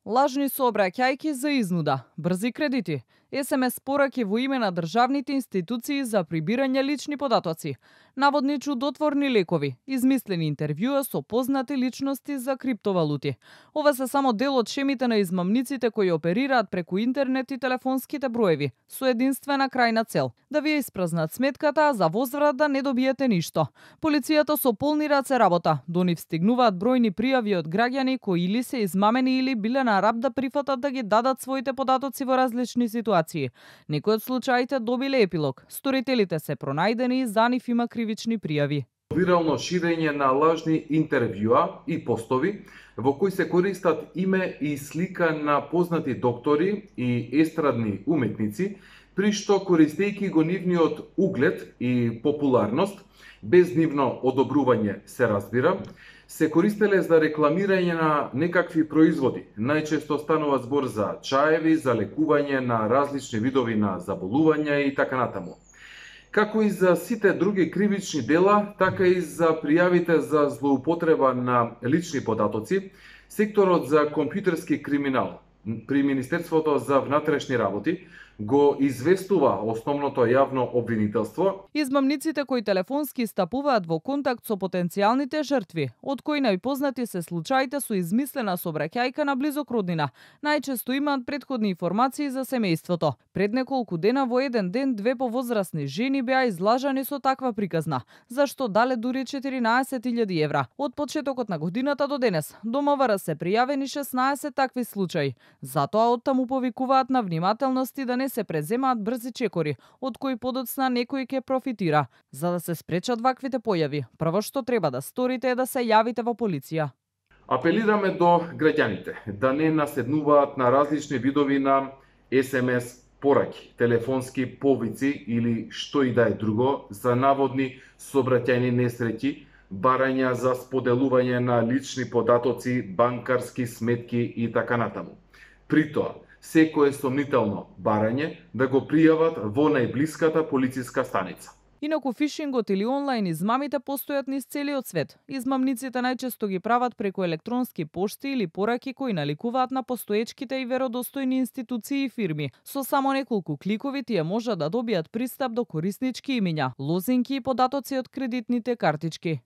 Лажни сообраќајки за изнуда, брзи кредити, СМС пораки во име на државните институции за прибирање лични податоци, наводни чудотворни лекови, измислени интервјуа со познати личности за криптовалути. Ова се само дел од шемите на измамниците кои оперираат преку интернет и телефонските броеви, со единствена крајна цел – да ви ја испразнат сметката, а за возврат да не добиете ништо. Полицијата со полни раце работа, до нив стигнуваат бројни пријави од граѓани кои или се измамени или биле на раб да прифатат да ги дадат своите податоци во различни ситуации. Некои од случаите добиле епилог. Сторителите се пронајдени и за нив има кривични пријави. Вирално ширење на лажни интервјуа и постови во кои се користат име и слика на познати доктори и естрадни уметници, при што користејќи го нивниот углед и популарност, без нивно одобрување се разбира, се користеле за рекламирање на некакви производи. Најчесто станува збор за чаеви, за лекување на различни видови на заболувања и така натаму. Како и за сите други кривични дела, така и за пријавите за злоупотреба на лични податоци, секторот за компјутерски криминал при Министерството за внатрешни работи го известува основното јавно обвинителство. Измамниците кои телефонски стапуваат во контакт со потенцијалните жртви, од кои најпознати се случаите со измислена сообраќајка на близок роднина, најчесто имаат претходни информации за семејството. Пред неколку дена во еден ден две повозрасни жени беа излажани со таква приказна, за што дале дури 14.000 евра. Од почетокот на годината до денес, до МВР се пријавени 16 такви случаи. Затоа оттаму повикуваат на внимателност и да не се преземаат брзи чекори, од кои подоцна некој ќе профитира. За да се спречат ваквите појави, прво што треба да сторите е да се јавите во полиција. Апелираме до граѓаните да не наседнуваат на различни видови на СМС пораки, телефонски повици или што и да е друго за наводни сообраќајни несреќи, барања за споделување на лични податоци, банкарски сметки и така натаму. При тоа, секое сомнително барање да го пријават во најблиската полициска станица. Инаку фишингот или онлайн измамите постојат низ целиот свет. Измамниците најчесто ги прават преку електронски пошти или пораки кои наликуваат на постоечките и веродостојни институции и фирми. Со само неколку кликови тие можат да добијат пристап до кориснички имиња, лозинки и податоци од кредитните картички.